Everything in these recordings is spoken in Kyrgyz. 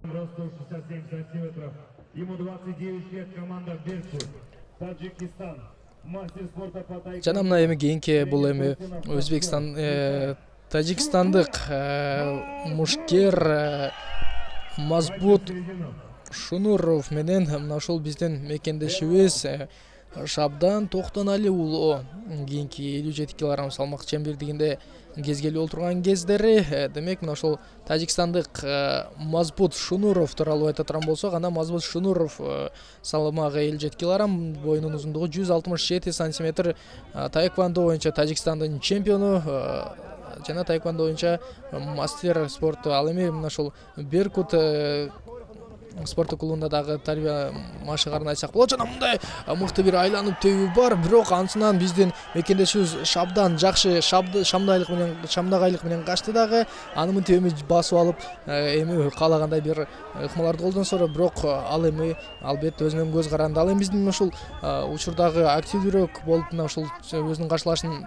Ростов 67 сантиметров. Ему 29 лет, команда Беркут. Таджикистан. Мастер спорта по тайквондо. Жана мына эми кийинки бул эми Өзбекстан тажикстандык мушкер Мазбут Шунуров менен мына ушул биздин мекендешибиз Шабдан Токтонали уулу кийинки 57 кг салмак чембирдигинде кезгелүү олтурган кездери. Демек мына ушул тажикстандык Мазбут Шунуров тууралуу айта турган болсок, анда Мазбут Шунуров салмагы 57 кг, боюнун узундугу 167 сантиметр, таеквондо боюнча Тажикстандын чемпиону жана таеквондо боюнча мастер спорту. Ал эми мына ушул Беркут спорттук клубунда дагы тарбия машыгарын айтсак болот. Жана мындай мыкты бир айланып тебүү бар, бирок ансынан биздин мекендешибиз Шабдан жакшы шамдагайлык менен качты дагы. Аны мынтип эми басып алып, эми каалагандай бир ыкмаларды колдонсо, бирок ал эми албетте өзүнүн көз каранды. Ал эми биздин ушул учурдагы активдүүрөөк болуп мына ушул өзүнүн каршылашын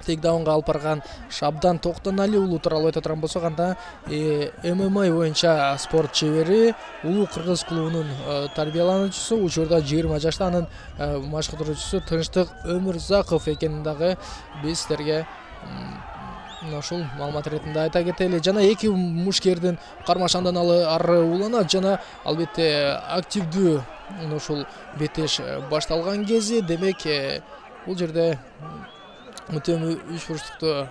тейкдаунга алып барган Шабдан Токтонали уулу тууралуу айта турган болсок, анда ММА боюнча спорт чебери, улуу кыргыз клубунун тарбиялануучусу, учурда 20 жашта, анын машыктыруучусу Тынчтык Өмүрзаков экенин дагы биз сиздерге мына ушул маалымат иретинде айта кетели. Жана эки мушкердин кармашандан ары ууланат жана албетте активдүү мына ушул беттеш башталган кези. Демек бул жерде мутем 3 бурчтукту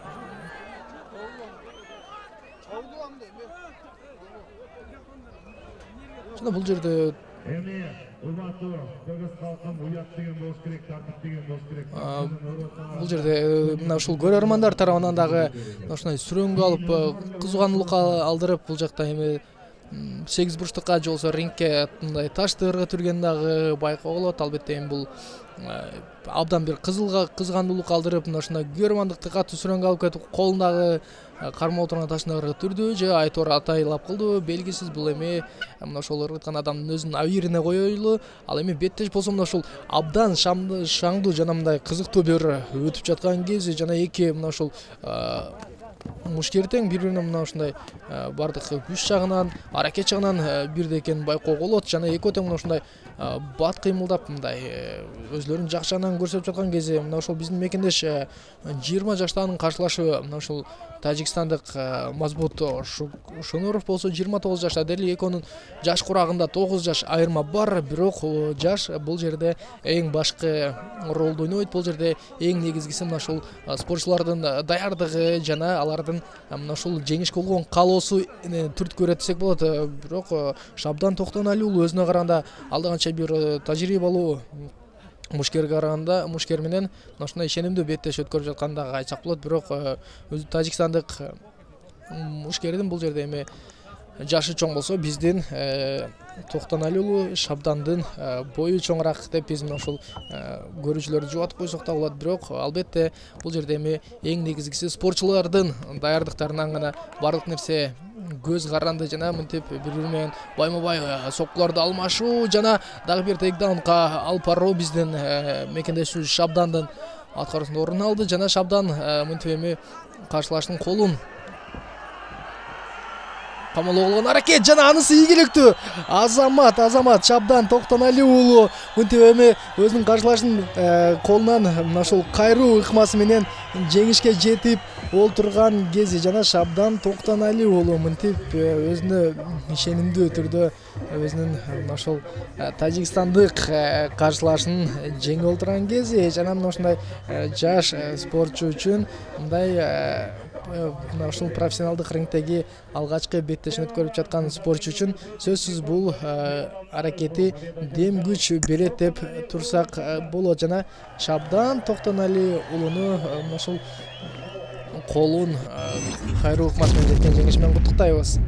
жана бул жерде Эми урматтуу кыргыз калкын уят деген болуш керек, тартип деген болуш керек. бул жерде мына ушул көрөрмандар тарабынан дагы ушундай сүрөнгө алып кызгануулук алдырып, бул жакта эми 8 бурчтукка же болбосо рингке мындай ташты ыргытып дагы байкоо болот. Албетте эми бул абдан бир кызгандуулук алдырып, мына ушундай көрөрмандыкты катуу сүрөнгө алып кетип, колундагы кармап отурган ташты ыргытырдыбы же айтор атайлап кылдыбы белгисиз. Бул эми мына ошол ыргыткан адамдын өзүнүн абийирине коелу. Ал эми беттеш болсо мына ушул абдан шаңдуу жана мындай кызыктуу бир өтүп жаткан кези, жана эки мына ушул мушкер тең бири-бирине мына ушундай бардык күч жагынан, аракет жагынан бирдей экенин байкоого болот. Жана экөө тең мына ушундай бат кыймылдап мындай өзлөрүнүн жакшы жагынан көрсөтүп жаткан кези, мына ошол биздин мекендеш 20 жаштагынын каршылашыбы мына ушул тажикстандык Мазбут Шунуров болсо 29 жашта. Дели экөөнүн жаш курагында 9 жаш айырма бар, бирок жаш бул жерде эң башкы ролду ойнойт. Бул жерде эң негизгиси мына ушул спортчулардын даярдыгы жана алардын мына ушул жеңишке болгон каалоосу түрткү берет десек болот. Бирок Шабдан Токтонали уулу өзүнө караганда алдаганча бир тажрыйбалуу мушкерге караганда мушкер менен мына ушундай ишенимдүү беттеш өткөрүп жатканын дагы айтсак болот. Бирок өзү тажикстандык мушкердин бул жерде эми жашы чоң болсо, биздин Токтонали уулу Шабдандын бою чоңураак деп биз мына ушул көрүүчүлөрдү жубатып койсок да болот. Бирок албетте бул жерде эми эң негизгиси спортчулардын даярдыктарынан гана бардык нерсе көз каранды жана мынтип бири-бири менен байма-бай соккуларды алмашуу жана дагы бир тейкдаунга алып баруу биздин мекендешибиз Шабдандын аткаруусунда орун алды. Жана Шабдан мынтип эми каршылаштын колун камалоо болгон аракет жана анысы ийгиликтүү. Азамат Шабдан Токтонали уулу мынтип эми өзүнүн каршылашынын колунан мына ушул кайруу ыкмасы менен жеңишке жетип олтурган кези, жана Шабдан Токтонали уулу мынтип өзүнө ишенимдүү түрдө өзүнүн мына ушул тажикстандык каршылашын жеңип олтурган кези, жана мына ушундай жаш спортчу үчүн мындай мына ушул профессионалдык рингдеги алгачкы беттешин өткөрүп жаткан спортчу үчүн сөзсүз бул аракети дем күч берет деп турсак болот. Жана Шабдан Токтонали уулуну мына ушул колун кайруу ыкмасы менен жеткен жеңиш менен куттуктайбыз.